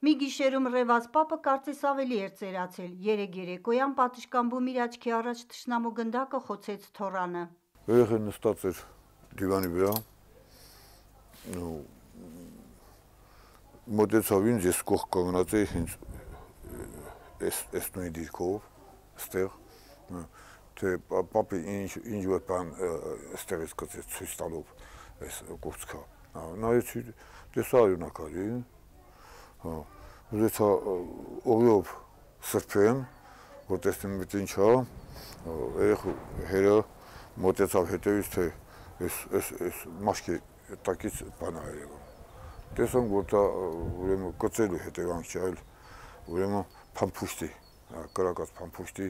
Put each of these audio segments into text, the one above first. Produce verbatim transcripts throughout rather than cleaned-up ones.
Մի գիշերում ռևած պապը կարծես ավելի էր ծերացել, երեկ երեկոյան պատշգամբում իր աչքի առաջ թշնամու գնդակը խոցեց թոռանը։ Երեխան նստած էր դիվանի վրա, մոտեցավ ինձ, ես կողք կանգնած էի հենց էս նույն դիրքով, ստեղ, թե պապի ինչ որ բան ստեղից կծեց ցույց տալով այս կուրծքը, նայեցի, տեսա արյունակարի, ուզեցա օղիով սրբեմ, որ տեսնեմ մեծ ինչ ա, երեխու հերը մոտեցավ հետևից, թե այս մաշկի տակից բան ա երևում։ Տեսանք, որ դա ուրեմն կծելու հետևանք չէ, այլ ուրեմն փամփուշտի, կրակած փամփուշտի,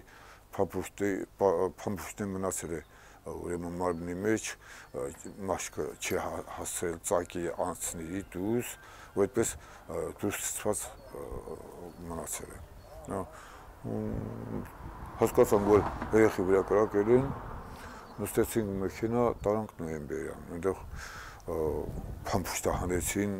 փամփուշտի մնացել է ուրեմն մարմնի մեջ, մաշկը չի հասցրել ծակի անցների դուրս, ու այդպես դուրս ցած մնացել է։ Հասկացանք, որ երեխի վրա կրակել են, նստեցինք մեքենա, տարանք Նոյեմբերյան, այնտեղ փամփուշտը հանեցին,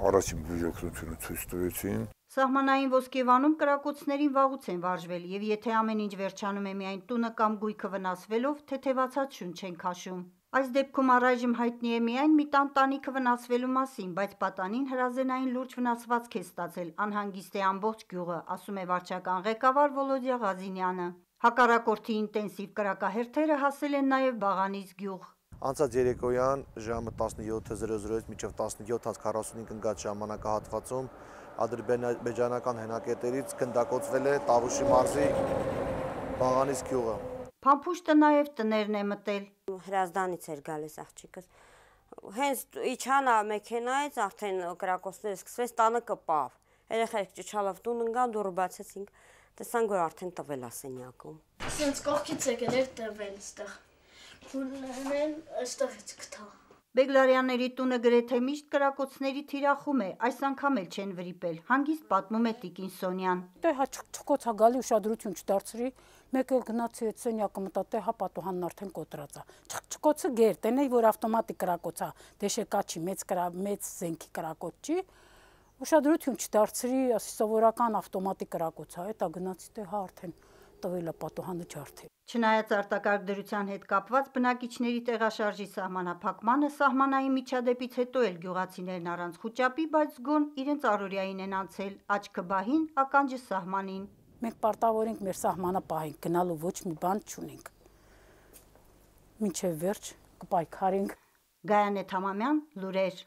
առաջին բուժօգնությունը ցույց տվեցին։ Սահմանային Ոսկեվանում կրակոցներին վաղուց են վարժվել, եւ եթե ամեն ինչ վերջանում է միայն տունը կամ գույքը վնասվելով, թեթևացած շունչ են քաշում։ Այս դեպքում առայժմ հայտնի է միայն մի տան տանիքը վնասվելու մասին, բայց պատանին հրազենային լուրջ վնասվածք է ստացել, անհանգիստ է ամբողջ գյուղը, ասում է վարչական ղեկավար Վոլոդյա Ղազինյանը։ Հակառակորդի ինտենսիվ կրակահերթերը հասել են նաև Բաղանից գյուղ։ Անցած երեկոյան ժամը տասնյոթ զրոզից մինչև տասնյոթ քառասունհինգ ընկած ժամանակահատվածում ադրբեջանական հենակետերից գնդակոծվել է Տավուշի մարզի Բաղանից գյուղը։ Փամփուշտը նաև տներն է մտել։ Հրազդանից էր գալիս աղջիկս։ Հենց իջան մեքենայից արդեն կրակոցները սկսվեց, տանը կպավ։ Երեխեք ճչալով տուն ընկան, դուռը բացեցինք, տեսանք, որ արդեն տվել է սենյակում։ Սենց կողքից եկել էր տվել այստեղ։ Քունեն այստեղից գտա։ Բեգլարյանների տունը գրեթե միշտ կրակոցների թիրախում է, այս անգամ էլ չեն վրիպել, հանգիստ պատմում է տիկին Սոնյան։ Դե հա չկոց գալի ուշադրություն չդարձրի, մեկ էլ գնացի այդ սենյակը մտա, դե հա պատուհանն արդեն կոտրած է։ Չկոցը գեր, տենեի որ ավտոմատիկ կրակոց է, դեշեկա չի, մեծ կրա, մեծ զենքի կրակոց չի։ Ուշադրություն չդարձրի, ասի սովորական ավտոմատիկ կրակոց է, էտա գնացի, դե հա արդեն տվել է պատուհանը ջարդել։ Չնայած արտակարգ դրության հետ կապված բնակիչների տեղաշարժի սահմանափակմանը, սահմանային միջադեպից հետո էլ գյուղացիներն առանց խուճապի, բայց զգոն իրենց առօրյային են անցել, աչքը բահին, ականջը սահմանին։ Մենք պարտավոր ենք մեր սահմանը պահենք, գնալու ոչ մի բան չունենք։ Մինչև վերջ կպայքարենք։ Գայանե Թամամյան, լուրեր։